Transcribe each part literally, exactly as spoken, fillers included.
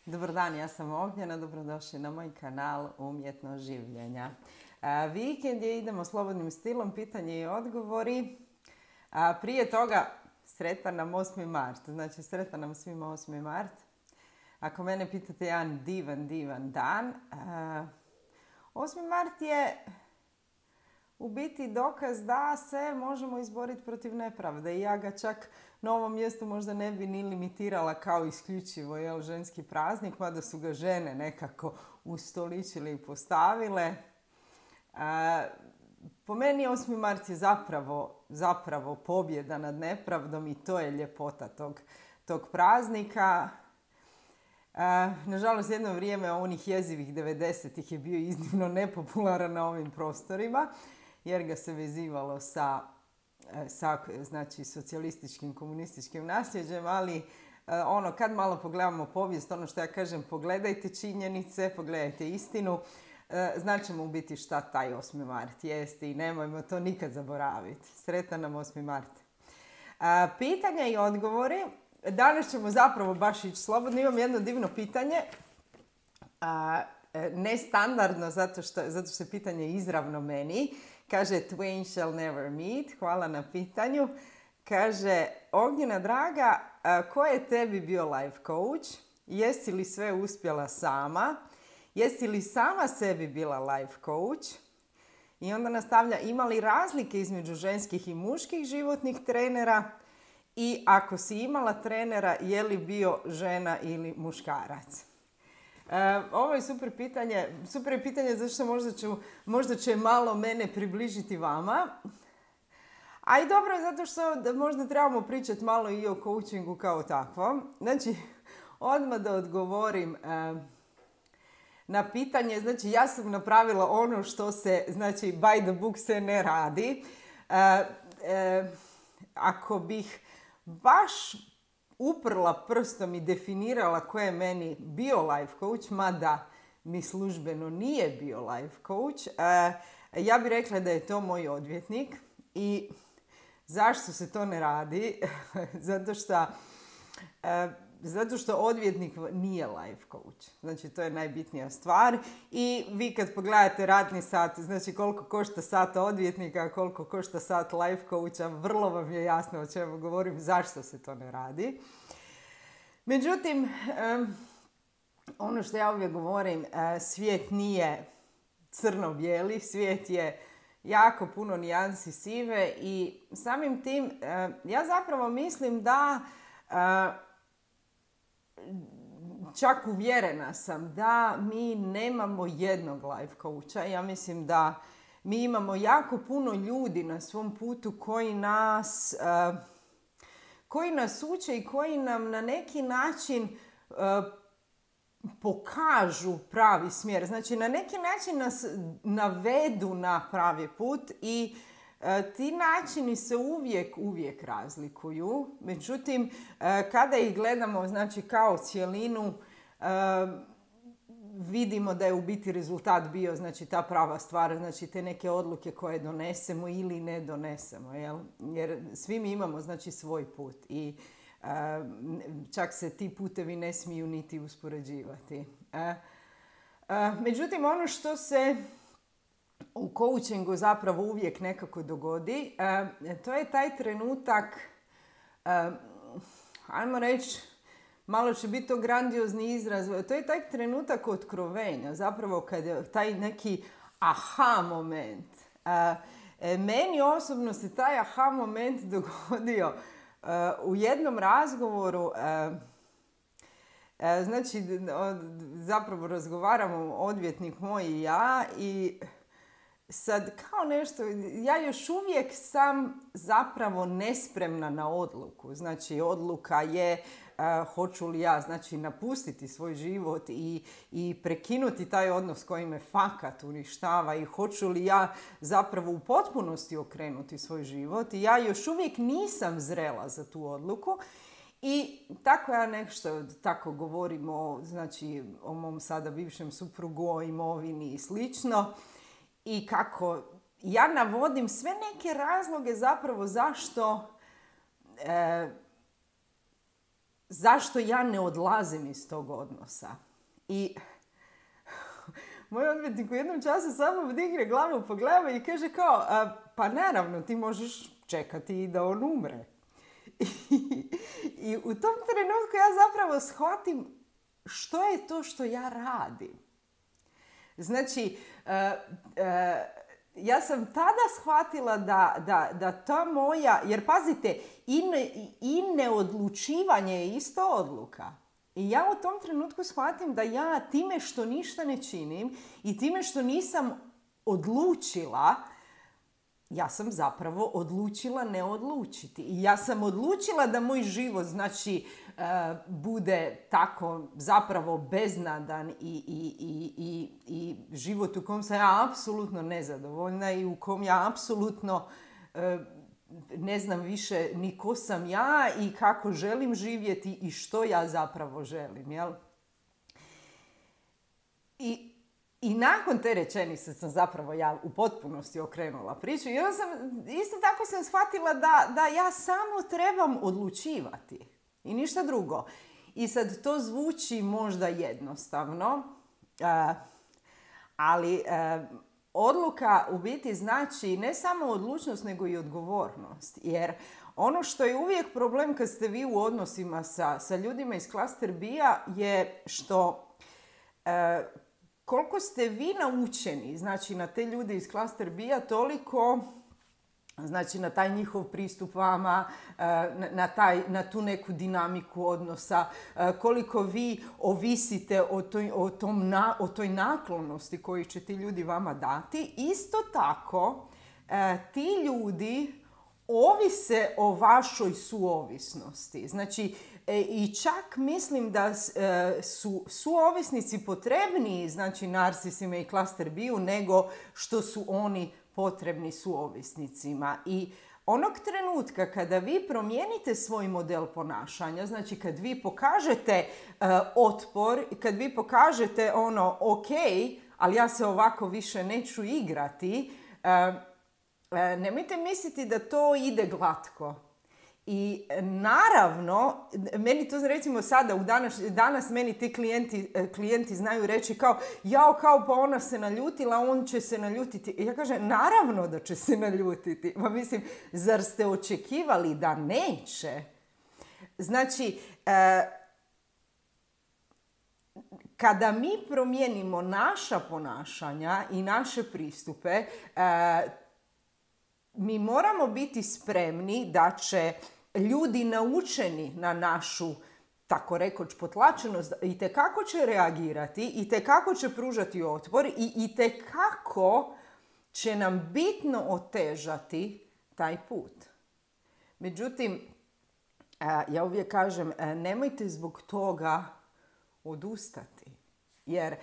Dobar dan, ja sam Ognjena, dobrodošli na moj kanal Umjetnost življenja. A, vikend je, idemo slobodnim stilom, pitanje i odgovori. A, prije toga, sretan nam osmi mart, znači sretan nam svima osmi mart. Ako mene pitate, jedan divan, divan dan. A, osmi mart je u biti dokaz da se možemo izboriti protiv nepravde i ja ga čak na ovom mjestu možda ne bi ni limitirala kao isključivo jel, ženski praznik, mada su ga žene nekako ustoličile i postavile. A, po meni osmi mart je zapravo, zapravo pobjeda nad nepravdom i to je ljepota tog, tog praznika. A, nažalost, jedno vrijeme onih jezivih devedesetih je bio iznimno nepopularan na ovim prostorima, jer ga se vezivalo sa, sa znači, socijalističkim, komunističkim nasljeđem, ali ono, kad malo pogledamo povijest, ono što ja kažem, pogledajte činjenice, pogledajte istinu, znaćemo u biti šta taj osmi mart jeste i nemojmo to nikad zaboraviti. Sretan nam osmi mart. Pitanja i odgovori. Danas ćemo zapravo baš ići slobodno. Imam jedno divno pitanje. Nestandardno, zato što, zato što je pitanje izravno meni. Kaže, twain shall never meet. Hvala na pitanju. Kaže, Ognjena draga, ko je tebi bio life coach? Jesi li sve uspjela sama? Jesi li sama sebi bila life coach? I onda nastavlja, ima li razlike između ženskih i muških životnih trenera? I ako si imala trenera, je li bio žena ili muškarac? E, ovo je super pitanje. Super je pitanje zato što možda, ću, možda će malo mene približiti vama. A i dobro je zato što možda trebamo pričati malo i o coachingu kao takvom. Znači, odmah da odgovorim e, na pitanje. Znači, ja sam napravila ono što se, znači, by the book se ne radi. E, e, ako bih baš uprla prstom i definirala ko je meni bio life coach, mada mi službeno nije bio life coach, ja bih rekla da je to moj odvjetnik. I zašto se to ne radi? Zato što, zato što odvjetnik nije life coach. Znači, to je najbitnija stvar. I vi kad pogledate radni sat, znači koliko košta sat odvjetnika, koliko košta sat life coacha, vrlo vam je jasno o čemu govorim, zašto se to ne radi. Međutim, ono što ja uvijek govorim, svijet nije crno-bijeli, svijet je jako puno nijansi sive i samim tim ja zapravo mislim da čak uvjerena sam da mi nemamo jednog life coacha. Ja mislim da mi imamo jako puno ljudi na svom putu koji nas, uh, koji nas uče i koji nam na neki način uh, pokažu pravi smjer. Znači, na neki način nas navedu na pravi put i ti načini se uvijek, uvijek razlikuju. Međutim, kada ih gledamo, znači, kao cjelinu, vidimo da je u biti rezultat bio, znači, ta prava stvar, znači, te neke odluke koje donesemo ili ne donesemo, jel? Jer svi mi imamo, znači, svoj put i čak se ti putevi ne smiju niti uspoređivati. Međutim, ono što se u coachingu zapravo uvijek nekako dogodi, e, to je taj trenutak, e, ajmo reći, malo će biti to grandiozni izraz, to je taj trenutak otkrovenja, zapravo kad je taj neki aha moment. E, e, meni osobno se taj aha moment dogodio e, u jednom razgovoru, e, e, znači zapravo razgovaramo odvjetnik moj i ja i sad, kao nešto, ja još uvijek sam zapravo nespremna na odluku. Znači, odluka je uh, hoću li ja, znači, napustiti svoj život i, i prekinuti taj odnos koji me fakat uništava i hoću li ja zapravo u potpunosti okrenuti svoj život. I ja još uvijek nisam zrela za tu odluku. I tako ja nešto, tako govorim o, znači, o mom sada bivšem suprugu, o imovini i slično. I kako ja navodim sve neke razloge zapravo zašto e, zašto ja ne odlazim iz tog odnosa. I moj odvjetnik u jednom času samo digne glavu, pogleda i kaže kao, a, pa naravno ti možeš čekati i da on umre. I, I u tom trenutku ja zapravo shvatim što je to što ja radim. Znači, uh, uh, ja sam tada shvatila da, da, da ta moja, jer pazite, i, ne, i neodlučivanje je isto odluka. I ja u tom trenutku shvatim da ja time što ništa ne činim i time što nisam odlučila, ja sam zapravo odlučila ne odlučiti. I ja sam odlučila da moj život, znači, uh, bude tako zapravo beznadan i, i, i, i, i život u kom sam ja apsolutno nezadovoljna i u kom ja apsolutno uh, ne znam više ni ko sam ja i kako želim živjeti i što ja zapravo želim, jel? I I nakon te rečenice sam zapravo ja u potpunosti okrenula priču i onda sam, isto tako sam shvatila da, da ja samo trebam odlučivati i ništa drugo. I sad to zvuči možda jednostavno, uh, ali uh, odluka u biti znači ne samo odlučnost nego i odgovornost. Jer ono što je uvijek problem kad ste vi u odnosima sa, sa ljudima iz klaster B-a je što uh, koliko ste vi naučeni, znači na te ljude iz klaster B-a, toliko, znači na taj njihov pristup vama, na, na, taj, na tu neku dinamiku odnosa, koliko vi ovisite o toj, o tom na, o toj naklonosti koju će ti ljudi vama dati. Isto tako, ti ljudi ovise o vašoj suovisnosti. Znači, e, i čak mislim da e, su suovisnici potrebniji, znači narsisima i klaster B-u, nego što su oni potrebni suovisnicima. I onog trenutka kada vi promijenite svoj model ponašanja, znači kad vi pokažete e, otpor, kad vi pokažete ono, ok, ali ja se ovako više neću igrati, e, nemojte misliti da to ide glatko. I naravno, meni to recimo sada, u danas, danas meni ti klijenti, klijenti znaju reći kao, jao, kao pa ona se naljutila, on će se naljutiti. I ja kažem, naravno da će se naljutiti. Pa mislim, zar ste očekivali da neće? Znači, e, kada mi promijenimo naša ponašanja i naše pristupe, e, mi moramo biti spremni da će ljudi naučeni na našu, tako rekoć, potlačenost, i tekako će reagirati, i tekako će pružati otpor, i, i tekako će nam bitno otežati taj put. Međutim, ja uvijek kažem, nemojte zbog toga odustati. Jer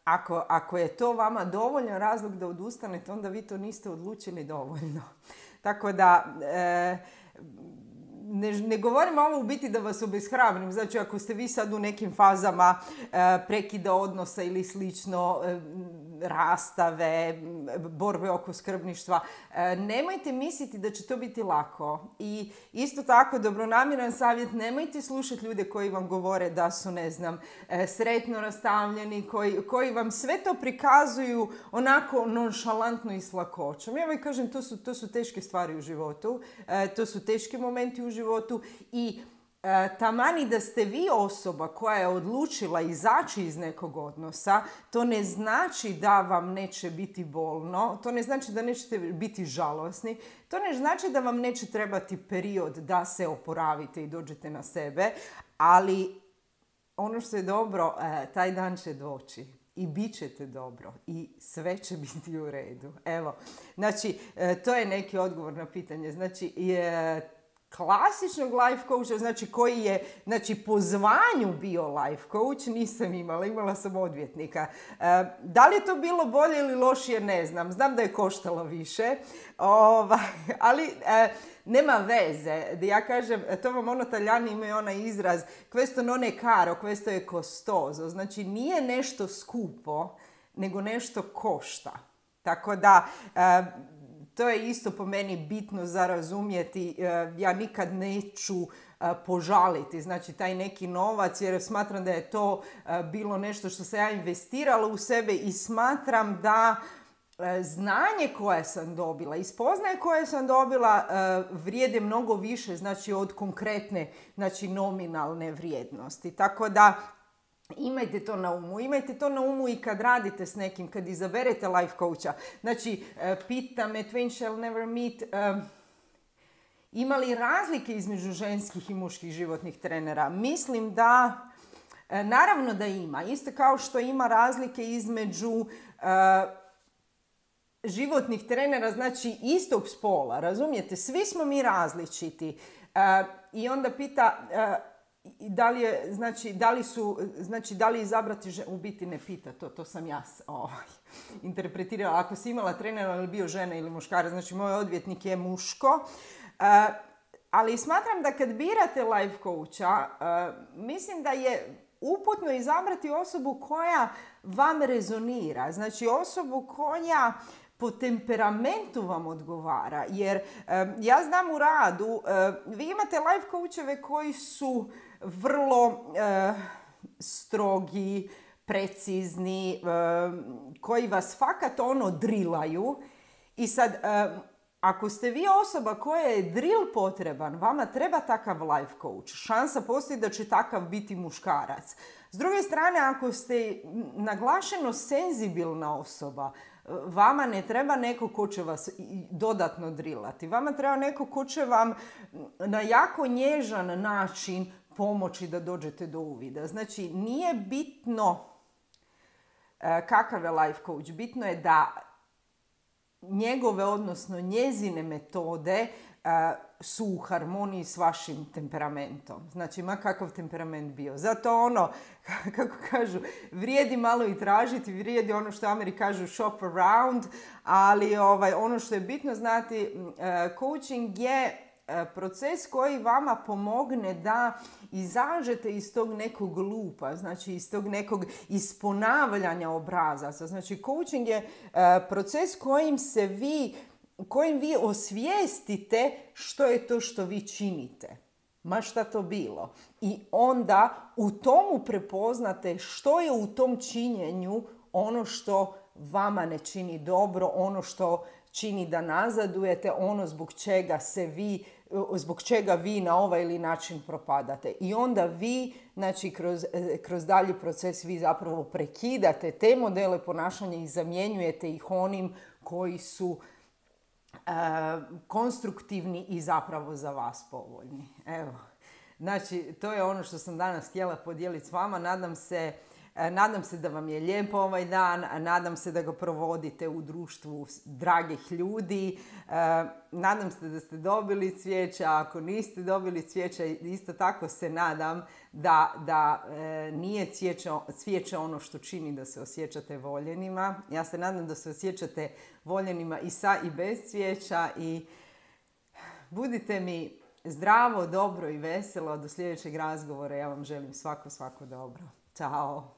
Ako, ako je to vama dovoljan razlog da odustanete, onda vi to niste odlučili dovoljno. Tako da, e, ne, ne govorim ovo u biti da vas obeshrabrim. Znači, ako ste vi sad u nekim fazama e, prekida odnosa ili slično, e, rastave, borbe oko skrbništva, e, nemojte misliti da će to biti lako. I isto tako, dobronamjeran savjet, nemojte slušati ljude koji vam govore da su, ne znam, e, sretno rastavljeni, koji, koji vam sve to prikazuju onako nonšalantno i s lakoćom. Ja vam kažem, to su, to su teške stvari u životu, e, to su teški momenti u životu i E, tamani da ste vi osoba koja je odlučila izaći iz nekog odnosa, to ne znači da vam neće biti bolno, to ne znači da nećete biti žalosni, to ne znači da vam neće trebati period da se oporavite i dođete na sebe, ali ono što je dobro, e, taj dan će doći. I bit ćete dobro. I sve će biti u redu. Evo, znači, e, to je neki odgovor na pitanje. Znači, je klasičnog life coacha, znači koji je znači, po zvanju bio life coach, nisam imala, imala sam odvjetnika. E, da li je to bilo bolje ili lošije, ne znam. Znam da je koštalo više, ovaj, ali e, nema veze. Ja kažem, to vam ono Talijani imaju onaj izraz questo non è caro, questo è costoso. Znači nije nešto skupo, nego nešto košta. Tako da e, to je isto po meni bitno za razumjeti. Ja nikad neću požaliti, znači taj neki novac, jer smatram da je to bilo nešto što sam ja investirala u sebe i smatram da znanje koje sam dobila i spoznaje koje sam dobila vrijede mnogo više, znači od konkretne, znači nominalne vrijednosti. Tako da imajte to na umu. Imajte to na umu i kad radite s nekim, kad izaberete life coacha. Znači, pita me, twain shall never meet, ima li razlike između ženskih i muških životnih trenera? Mislim da, naravno da ima. Isto kao što ima razlike između životnih trenera, znači istog spola, razumijete? Svi smo mi različiti. Uh, I onda pita uh, da li je, znači, da li su, znači, da li izabrati ženu, u biti ne pita, to, to sam ja ovaj, interpretirala. Ako si imala trenera ili bio žena ili muškara, znači moj odvjetnik je muško. Uh, ali smatram da kad birate life coacha, uh, mislim da je uputno izabrati osobu koja vam rezonira, znači osobu koja po temperamentu vam odgovara, jer e, ja znam u radu, e, vi imate life coacheve koji su vrlo e, strogi, precizni, e, koji vas fakat ono drilaju i sad e, ako ste vi osoba koja je drill potreban, vama treba takav life coach. Šansa postoji da će takav biti muškarac. S druge strane, ako ste naglašeno senzibilna osoba, vama ne treba neko ko će vas dodatno drilati. Vama treba neko ko će vam na jako nježan način pomoći da dođete do uvida. Znači, nije bitno kakav je life coach. Bitno je da njegove, odnosno njezine metode su u harmoniji s vašim temperamentom. Znači, ma kakav temperament bio. Zato ono, kako kažu, vrijedi malo i tražiti, vrijedi ono što Ameri kažu shop around, ali ovaj, ono što je bitno znati, coaching je proces koji vama pomogne da izađete iz tog nekog lupa, znači iz tog nekog isponavljanja obrazaca. Znači, coaching je proces kojim se vi kojim vi osvijestite što je to što vi činite. Ma šta to bilo. I onda u tomu prepoznate što je u tom činjenju ono što vama ne čini dobro, ono što čini da nazadujete, ono zbog čega se vi, zbog čega vi na ovaj ili način propadate. I onda vi, znači kroz, kroz dalji proces vi zapravo prekidate te modele ponašanja i zamjenjujete ih onim koji su Uh, konstruktivni i zapravo za vas povoljni. Evo, znači to je ono što sam danas htjela podijeliti s vama. Nadam se, uh, nadam se da vam je lijepo ovaj dan, nadam se da ga provodite u društvu dragih ljudi. Uh, nadam se da ste dobili cvijeća, ako niste dobili cvijeća, isto tako se nadam da, da uh, nije cvijeće, cvijeće ono što čini da se osjećate voljenima. Ja se nadam da se osjećate voljenima i sa i bez cvijeća i budite mi zdravo, dobro i veselo. Do sljedećeg razgovora ja vam želim svako, svako dobro. Ćao!